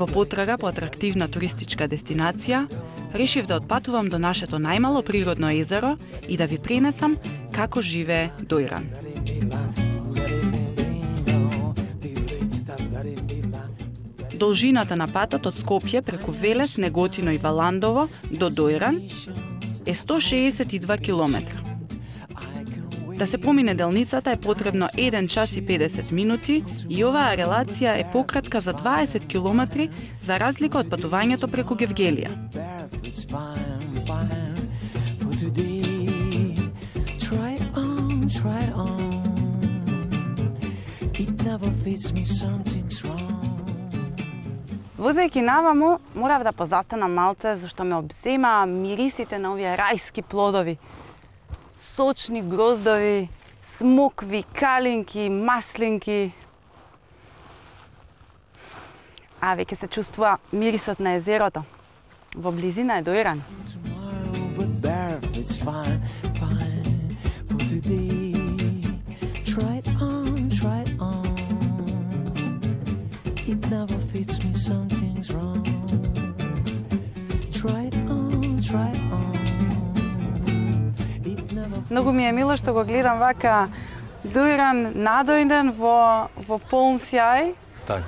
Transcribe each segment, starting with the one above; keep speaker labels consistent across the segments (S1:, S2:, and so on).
S1: Во потрага по атрактивна туристичка дестинација, решив да отпатувам до нашето најмало природно езеро и да ви пренесам како живее Дојран. Должината на патот од Скопје преку Велес, Неготино и Валандово до Дојран е 162 километра. Да се помине делницата е потребно 1 час и 50 минути и оваа релација е пократка за 20 километри за разлика од патувањето преку Гевгелија.
S2: Возејќи наваму, морав да позастанам малце, зашто ме обзема мирисите на овие рајски плодови. Сочни гроздови, смокви, калинки, маслинки. А веќе се чувствува мирисот на езерото. Во близина е Дојран. Многу ми е мило што го гледам вака Дојран надојден во полн сјај,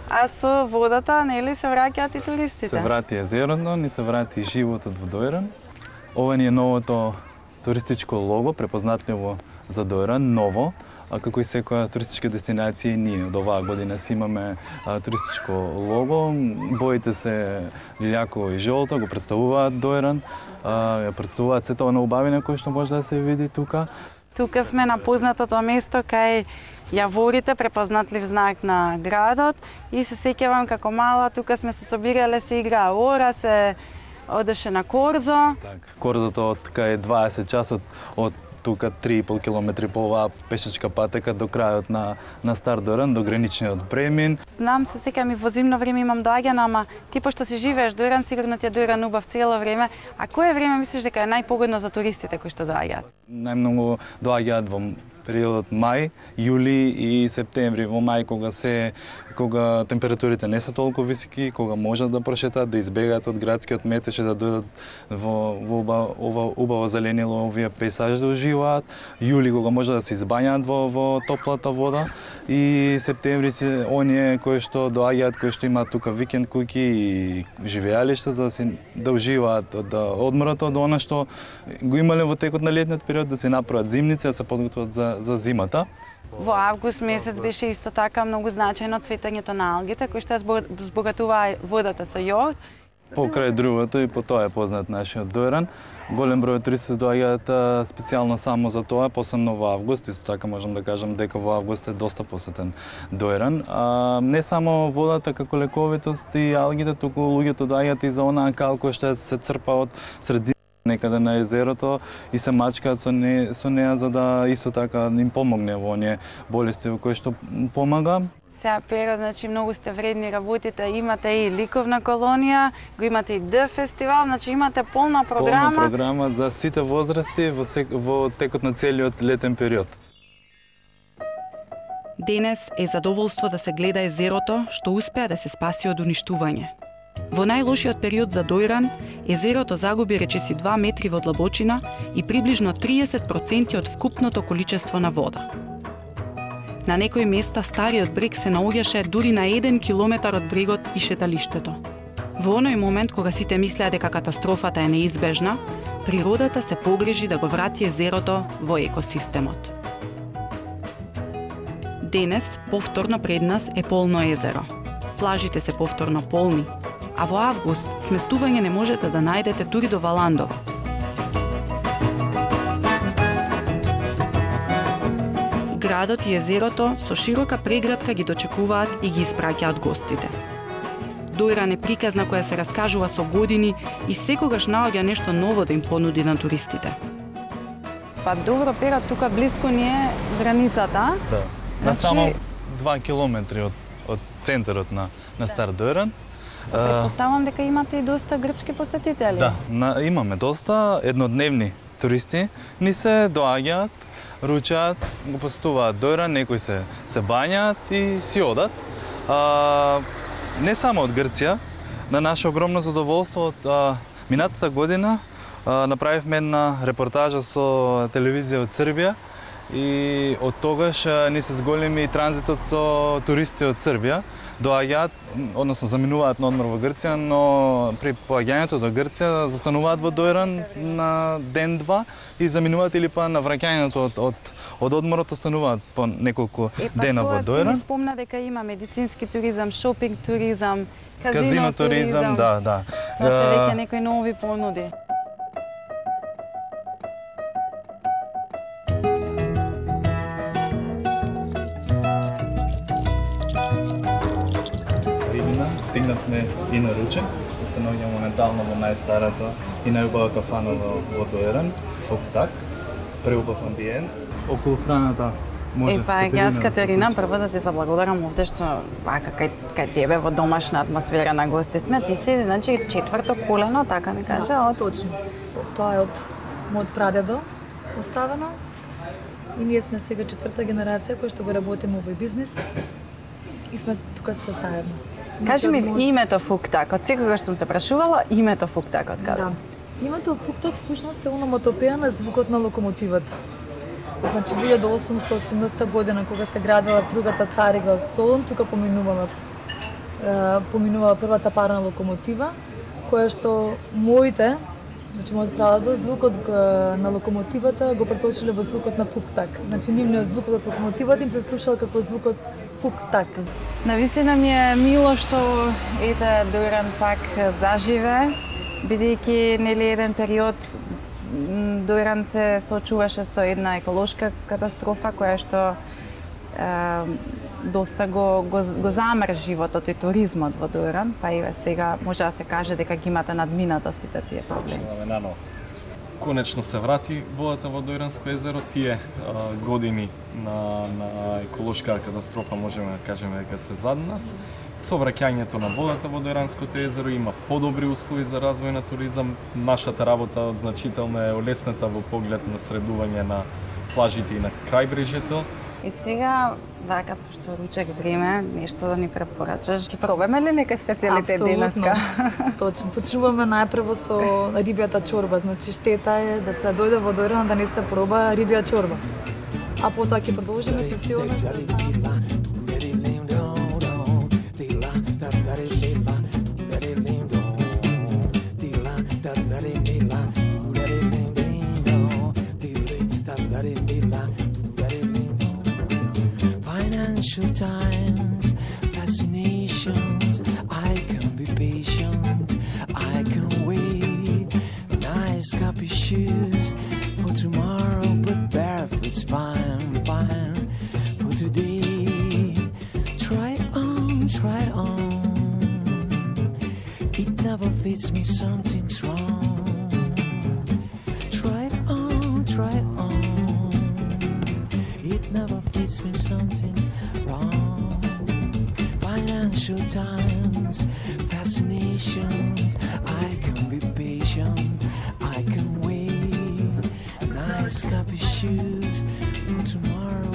S2: а со водата, нели, се враќаат и туристите.
S3: Се врати езерото, ни се врати животот во Дојран. Ова ни е новото туристичко лого, препознатливо за Дојран, ново. Како и секоја туристичка дестинација, ние од оваа година си имаме туристичко лого. Боите се лилјако и жолто, го представуваат Дојран. Ја представуваат сето на убавина кој што може да се види тука.
S2: Тука сме на познатото место кај јаворите, препознатлив знак на градот, и се сеќавам како мала тука сме се собирале, се играа ора, се одеше на корзо.
S3: Корзото од кај 20 часот од тука 3,5 километри по оваа пешачка патека до крајот на Стар Дојран, до граничниот премин.
S2: Знам, се сеќавам и во зимно време имам доаѓано, ама ти пошто си живееш Дојран, сигурно ти е Дојран убав цело време. А кое време мислиш дека е најпогодно за туристите кои што доаѓаат?
S3: Најмногу доаѓаат во периодот мај, јули и септември. Во мај кога температурите не се толку високи, кога можат да прошетаат, да избегаат од градскиот метеж и да дојдат во ова убаво зеленило, овие пейзажи да уживаат. Јули кога може да се избањаат во топлата вода, и септември се оние кои што доаѓаат, кои што имаат тука викенд куќи и живеалишта за да уживаат, да одморат од она што го имале во текот на летниот период, да се направат зимници, да се подготват за зимата.
S2: Во август месец беше исто така многу значајно цветањето на алгите, кои што збогатуваа водата со јод.
S3: Покрај другото и по тоа е познат нашиот Дојран. Голем број туристи доаѓаат специјално само за тоа, посебно во август. Исто така можам да кажам дека во август е доста посетен Дојран. Не само водата како лековитост и алгите, туку луѓето доаѓаат и за онаа кал која што се црпа од средина некаде на езерото и се мачкаат со неа за да исто така им помогне во оние болести во кои што помага.
S2: Сега, Перо, значи многу сте вредни, работите, имате и ликовна колонија, го имате и фестивал, значи имате полна програма.
S3: Полна програма за сите возрасти во текот на целиот летен период.
S1: Денес е задоволство да се гледа езерото што успеа да се спаси од уништување. Во најлошиот период за Дојран, езерото загуби речиси 2 метри во длабочина и приближно 30% од вкупното количество на вода. На некои места стариот брег се наоѓаше дури на 1 километар од брегот и шеталиштето. Во оној момент кога сите мислеа дека катастрофата е неизбежна, природата се погрижи да го врати езерото во екосистемот. Денес повторно пред нас е полно езеро. Плажите се повторно полни, а во август сместување не можете да најдете дури до градот и езерото со широка преградка ги дочекуваат и ги испраќаат гостите. Дојран е приказна која се раскажува со години и секогаш наоѓа нешто ново да им понуди на туристите.
S2: Па добро, Пера, тука блиску ни е границата.
S3: Да. На само 2 километри од центарот на Стар Дојран.
S2: Претпоставам дека имате и доста грчки посетители.
S3: Да, имаме доста еднодневни туристи. Ни се доаѓаат, ручаат, го посетуваат Дојран, некои се бањаат и си одат. Не само од Грција, на наше огромно задоволство од минатата година направивме една репортажа со телевизија од Србија и од тогаш ни се зголеми транзитот со туристи од Србија. Доаѓаат, односно заминуваат на одмор во Грција, но при поаѓањето до Грција застануваат во Дојран на ден-два и заминуваат или па на враќањето од одморот остануваат по неколку дена во Дојран.
S2: Ти спомна дека има медицински туризам, шопинг туризам,
S3: казино туризам, да.
S2: Тоа се веќе некои нови понуди.
S3: Стигнавме и на ручек, да се наоѓаме моментално во најстарата и најубава кафана во Дојран, Фуктак, преубав амбиент. Околу храната може...
S2: Јас, Катерина, прво да ти заблагодарам овде што кај тебе во домашна атмосфера на гости сме. Ти си, значи, четврто колено, така ми кажа, од...
S4: Точно. Тоа е од мојот прадедо оставено. И ние сме сега четврта генерација која што го работиме овој бизнис. И сме тука сте заедно.
S2: Кажи ми името Фуктак, од секогаш сум се прашувала името Фуктак од каде?
S4: Да. Името Фуктак всушност е ономатопеја на звукот на локомотивата. Значи 1818 година кога се градила другата царигла Солун, тука поминувала првата парна локомотива, која што мојот прадедо звукот на локомотивата го преточиле во звукот на Фуктак. Значи нивниот звук од локомотивата им се слушал како звукот Фуктак.
S2: Навистина ми е мило што Дојран пак заживе, бидејќи нели еден период Дојран се соочуваше со една еколошка катастрофа која што доста го замр животот и туризмот во Дојран, па и сега може да се каже дека ги имате надминато сите тие проблеми.
S5: Конечно се врати водата во Дојранско езеро, тие години на еколошка катастрофа можеме да кажеме дека се зад нас. Со враќањето на водата во Дојранското езеро има подобри услови за развој на туризам. Нашата работа значително е олесната во поглед на средување на плажите и на крајбрежјето.
S2: И сега, вака, пошто ручек време, нешто да ни препорачаш. Ќе пробаме ли нека специјалитет денеска?
S4: Точно. Почнуваме најпрво со рибјата чорба. Значи штета е да се дојде во Дојран да не се проба рибја чорба. А потоа ќе продолжиме со сите она што
S6: Financial times, fascinations. I can be patient, I can wait. Nice copy shoes for tomorrow, but barefoot's fine for today. Try on. It never fits me, something's wrong. Try on. It never fits me, something wrong. Financial times, fascinations. I can be patient, I can wait. Nice copy shoes for tomorrow.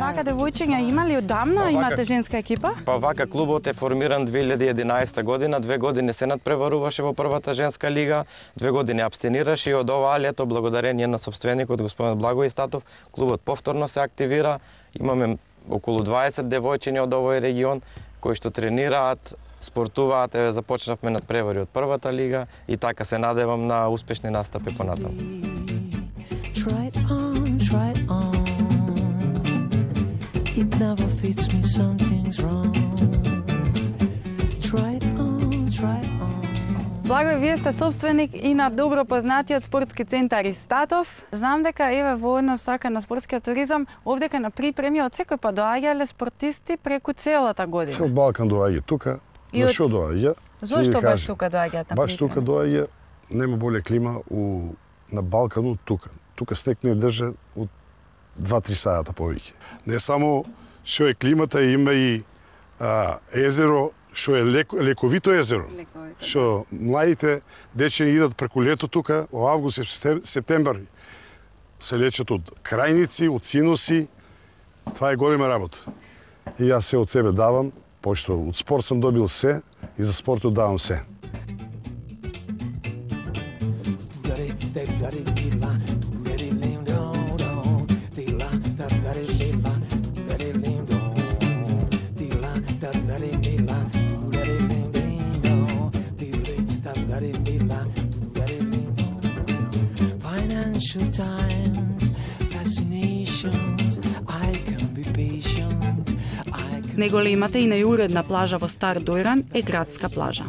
S2: Вака девојчиња има ли одамна? Имате женска екипа?
S7: Па вака клубот е формиран 2011 година, 2 години се надпреваруваше во првата женска лига, 2 години абстенираше и од оваа лето благодарение на собственикот господин Благој Статов, клубот повторно се активира. Имаме околу 20 девојчиња од овој регион кои што тренираат, спортуваат, започнавме надпревари од првата лига и така се надевам на успешни настапи понатаму.
S6: Try on. It never fits me, something's wrong. Try on.
S2: Благој, вие сте собственик и на добро познатиот спортски центар Истатов. Знам дека еве во една сака на спортскиот туризам, овдека на припреми од секој па доаѓале спортисти преку целата година.
S8: Цел Балкан доаѓа тука.
S2: И
S8: Зашо доаѓа?
S2: Зошто баш тука доаѓаат на
S8: Баш тука доаѓа, нема боле клима на Балкану тука. Тука снег не држа од 2-3 саата повеќе. Не само што е климата, има и езеро, што е лековито езеро. Што младите дечени идат преку лето тука, во август и септембар се лечат од крајници, од синуси. Това е голема работа. И јас се од себе давам, пошто од спорт сам добил се и за спортот давам се.
S6: Financial times, fascinations, I can be patient.
S1: Неголемата и најуредна плажа во Стар Дојран е градска плажа.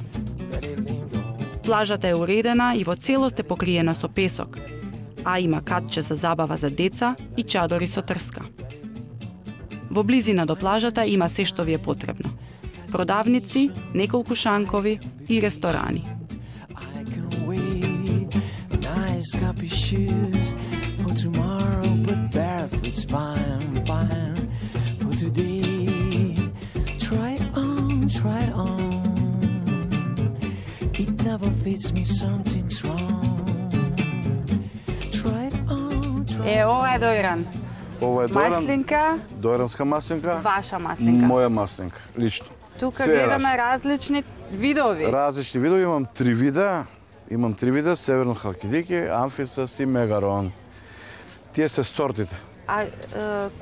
S1: Плажата е уредена и во целост е покриена со песок, а има катче за забава за деца и чадори со трска. Во близина до плажата има се што ви е потребно. Продавници, неколку шанкови и ресторани.
S6: Copy shoes for tomorrow, but barefoot's fine for today. Try it on. It never fits me, something's wrong. Try it on.
S2: Ова е Дојран.
S9: Ова е Дојран.
S2: Маслинка.
S9: Дојранска маслинка.
S2: Ваша маслинка.
S9: Моја маслинка, лично.
S2: Тука гледаме различни видови.
S9: Различни видови, имам 3 вида. Имам 3 вида, Северно халкидики, Амфисас и Мегарон. Тие се сортите.
S2: А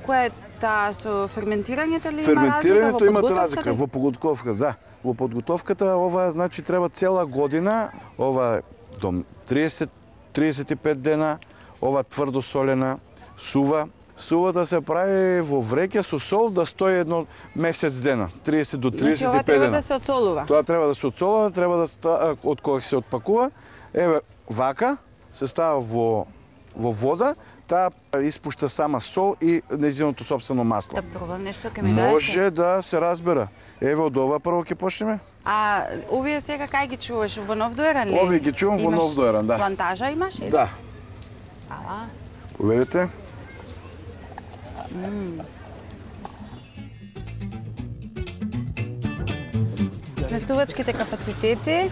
S2: кој е таа со ферментирањето ли има разлика?
S9: Ферментирањето имате разлика во подготовка, да. Во подготовката ова значи треба цела година, ова до 30-35 дена, ова тврдо солена, сува. Сувата се прави во вреќе со сол да стои едно месец дена, 30 до 35 дена.
S2: Значи ова треба да се отсолува?
S9: Тоа треба да се отсолува, треба да од кога се отпакува. Еве, вака се става во вода, таа испушта сама сол и нејзиното сопствено масло.
S2: Да пробам нешто, ке ми даде?
S9: Може да се разбера. Еве, од ова прво ќе почнеме.
S2: А овие сега кај ги чуваш? Во Нов Дојран ли?
S9: Овие ги чувам во Нов Дојран, да.
S2: Плантажа имаш? Или?
S9: Да.
S2: Ала.
S9: Поверите?
S2: Сместувачките капацитети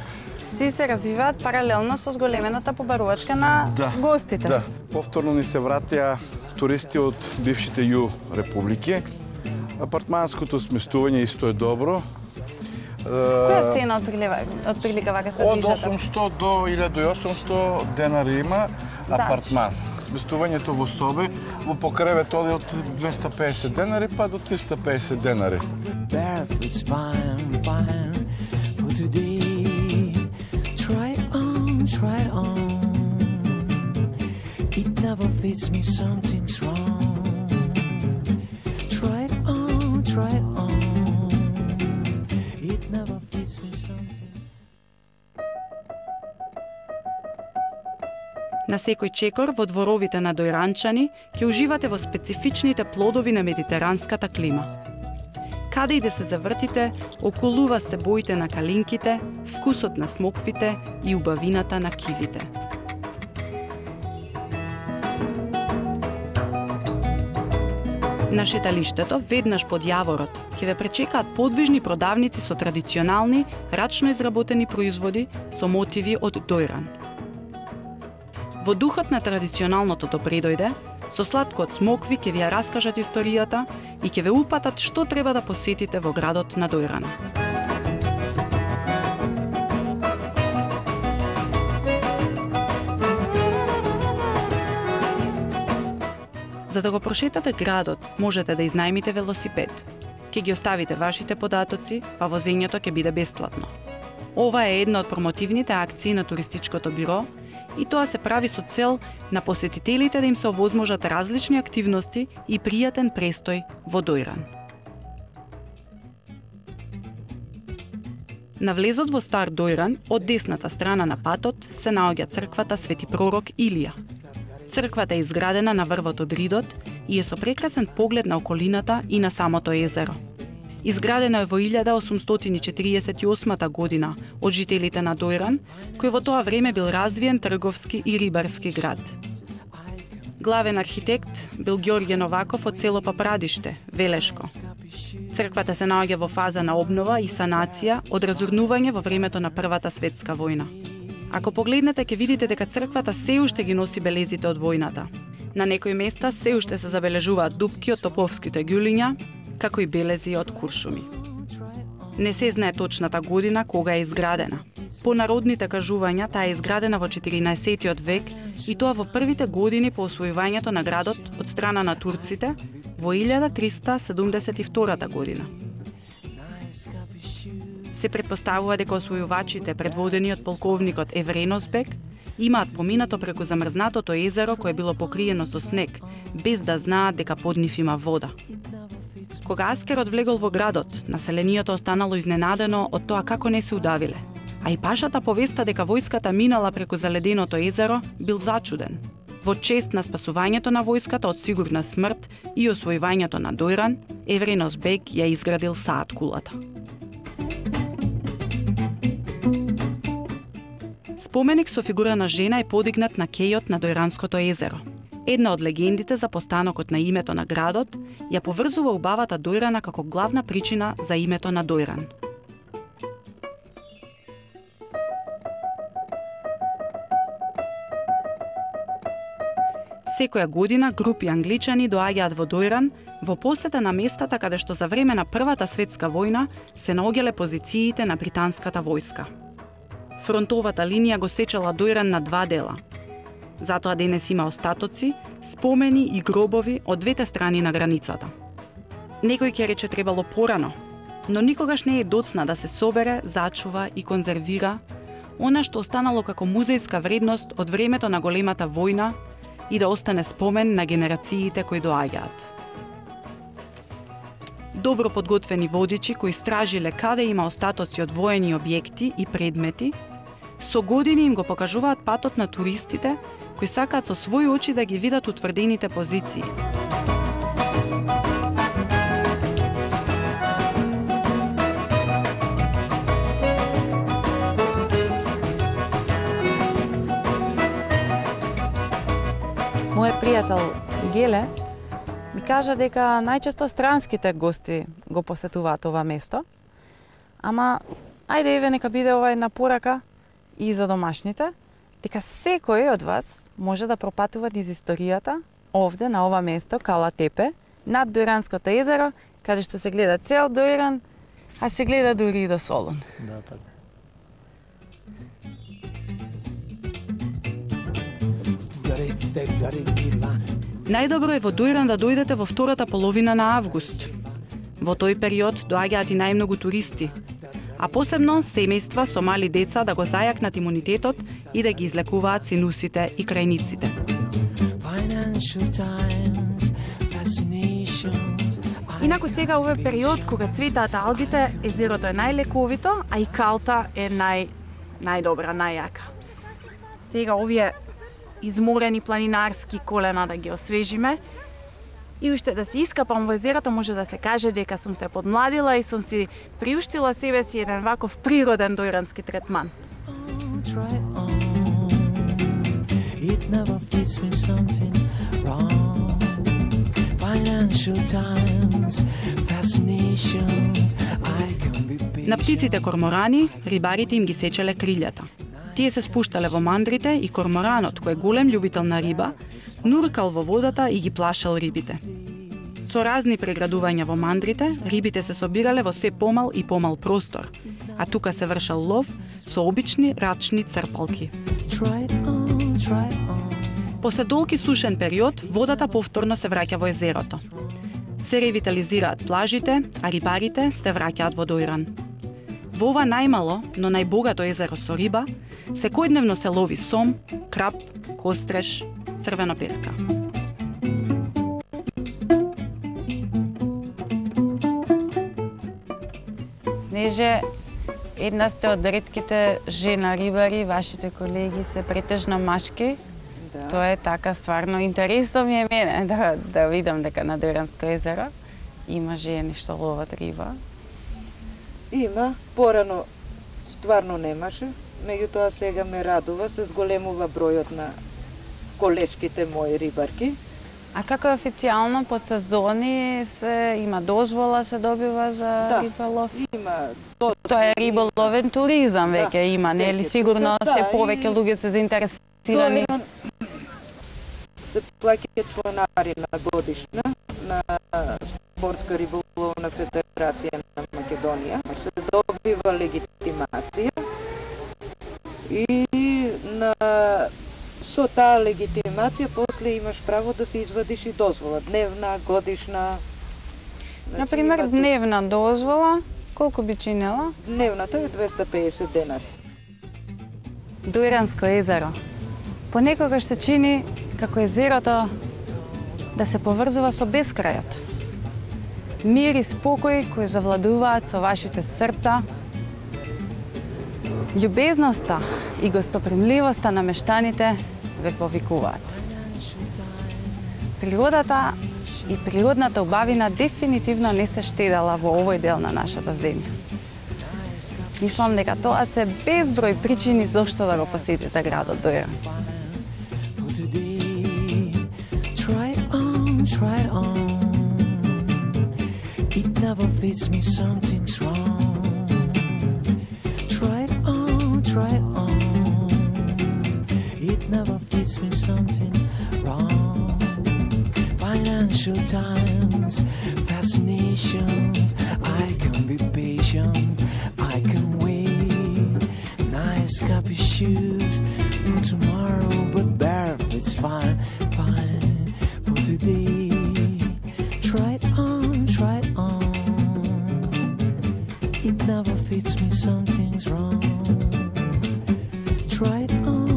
S2: си се развиваат паралелно со зголемената побарувачка на гостите.
S9: Да. Повторно ни се вратија туристи од бившите ју републики. Апартманското сместување исто е добро.
S2: Која цена од прилика вака се
S9: Од
S2: движат?
S9: 800 до 1800 денари има апартман. Сместувањето во соби, во покревет оди од 250 денари па до 350 денари.
S6: Barefoot's fine for today. Try it on. It never fits me, something's wrong. Try it on. It never fits me, something.
S1: На секој чекор во дворовите на дојранчани ќе уживате во специфичните плодови на медитеранската клима. Каде и да се завртите, околу вас се боите на калинките, вкусот на смоквите и убавината на кивите. На шеталиштето, веднаш под јаворот, ќе ве пречекаат подвижни продавници со традиционални, рачно изработени производи со мотиви од Дојран. Во духот на традиционалното добредојде, со сладко од смокви ќе ви ја раскажат историјата и ќе ве упатат што треба да посетите во градот на Дојран. За да го прошетате градот, можете да изнајмите велосипед. Ќе ги оставите вашите податоци, па возењето ќе биде бесплатно. Ова е една од промотивните акции на туристичкото биро и тоа се прави со цел на посетителите да им се овозможат различни активности и пријатен престој во Дојран. На влезот во Стар Дојран, од десната страна на патот, се наоѓа црквата Свети пророк Илија. Црквата е изградена на врвот од Ридот и е со прекрасен поглед на околината и на самото езеро. Изградена е во 1848 година од жителите на Дојран, кој во тоа време бил развиен трговски и рибарски град. Главен архитект бил Ѓорѓе Новаков од село Папрадиште, Велешко. Црквата се наоѓа во фаза на обнова и санација од разурнување во времето на Првата светска војна. Ако погледнете, ќе видите дека црквата се уште ги носи белезите од војната. На некои места се уште се забележуваат дупки од топовските ѓулиња, како и белези од куршуми. Не се знае точната година кога е изградена. По народните кажувања, таа е изградена во 14 век и тоа во првите години по освојувањето на градот од страна на турците во 1372 година. Се претпоставува дека освојувачите, предводени од полковникот Евреносбек, имаат поминато преку замрзнатото езеро кое било покриено со снег, без да знаат дека под нив има вода. Кога Аскерот влегол во градот, населението останало изненадено од тоа како не се удавиле. А и пашата повеста дека војската минала преку заледеното езеро бил зачуден. Во чест на спасувањето на војската од сигурна смрт и освојувањето на Дојран, Евреносбек ја изградил Саат кулата. Споменик со фигура на жена е подигнат на кејот на Дојранското езеро. Една од легендите за постанокот на името на градот ја поврзува убавата Дојрана како главна причина за името на Дојран. Секоја година групи англичани доаѓаат во Дојран во посета на местата каде што за време на Првата светска војна се наоѓале позициите на британската војска. Фронтовата линија го сечела Дојран на два дела. Затоа денес има остатоци, спомени и гробови од двете страни на границата. Некој ќе рече требало порано, но никогаш не е доцна да се собере, зачува и конзервира она што останало како музејска вредност од времето на големата војна и да остане спомен на генерациите кои доаѓаат. Добро подготвени водичи кои стражиле каде има остатоци од воени објекти и предмети, со години им го покажуваат патот на туристите кои сакаат со своји очи да ги видат утврдените позиции.
S2: Мојот пријател Геле ми кажа дека најчесто странските гости го посетуваат ова место, ама ајде еве нека биде ова една порака и за домашните, дека секој од вас може да пропатува низ историјата овде на ова место, Кала Тепе, над Дојранското езеро, каде што се гледа цел Дојран, а се гледа дури и до Солун.
S5: Да, така.
S1: Најдобро е во Дојран да дојдете во втората половина на август. Во тој период доаѓаат и најмногу туристи, а посебно семејства со мали деца да го зајакнат имунитетот и да ги излекуваат синусите и крајниците.
S2: Инаку сега овој период кога цветаат алгите, езерото е најлековито, а и калта е најдобра, најјака. Сега овие изморени планинарски колена да ги освежиме и уште да се искапам во езерото, може да се каже дека сум се подмладила и сум си приуштила себе си еден ваков природен дојрански третман.
S1: На птиците корморани, рибарите им ги сечеле крилјата. Тие се спуштале во мандрите и корморанот, кој е голем љубител на риба, нуркал во водата и ги плашал рибите. Со разни преградувања во мандрите, рибите се собирале во се помал и помал простор, а тука се вршал лов со обични рачни црпалки. После долги сушен период, водата повторно се враќа во езерото. Се ревитализираат плажите, а рибарите се враќаат во Дојран. Во ова најмало, но најбогато езеро со риба, секојдневно се лови сом, крап, костреш, црвена перка.
S2: Снеже, Една сте од ретките жена рибари, вашите колеги се претежно машки.
S10: Да.
S2: Тоа е така стварно интересно ми е мене да видам дека на Дојранско езеро има жени што ловат риба.
S10: Има, порано стварно немаше, меѓутоа сега ме радува, се зголемува бројот на колешките мои рибарки.
S2: А како официјално по сезони има дозвола се добива за риболов?
S10: Има.
S2: Тоа е риболовен туризам веќе има, нели? Сигурно се повеќе луѓе се заинтересирани.
S10: Се плаќа чланарина годишна на Спортска риболовна федерација на Македонија. Се добива легитимација и со таа легитимација после имаш право да се извадиш и дозвола, дневна, годишна.
S2: Например, дневна дозвола, колку би чинела?
S10: Дневната е 250 денари.
S2: Дојранско езеро. Понекогаш се чини како езерото да се поврзува со бескрајот. Мир и спокој кои завладуваат со вашите срца. Љубезноста и гостопримливоста на мештаните ве повикуваат. Природата и природната убавина дефинитивно не се штедала во овој дел на нашата земја. Мислам дека тоа се безброј причини зошто да го посетите градот Дојран.
S6: Try on. It never fits me, something's wrong. Try on. It never fits me, something wrong. Financial times, fascinations. I can be patient, I can wait. Nice copy shoes for tomorrow, but barefoot's fine. For today. Try it on. It never fits me, something's wrong. Try it on.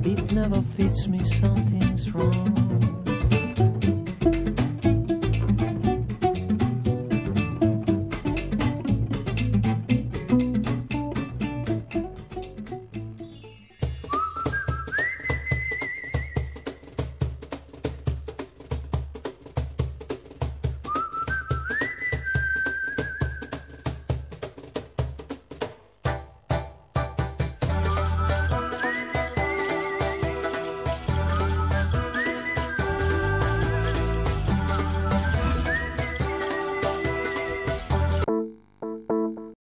S6: It never fits me, something's wrong.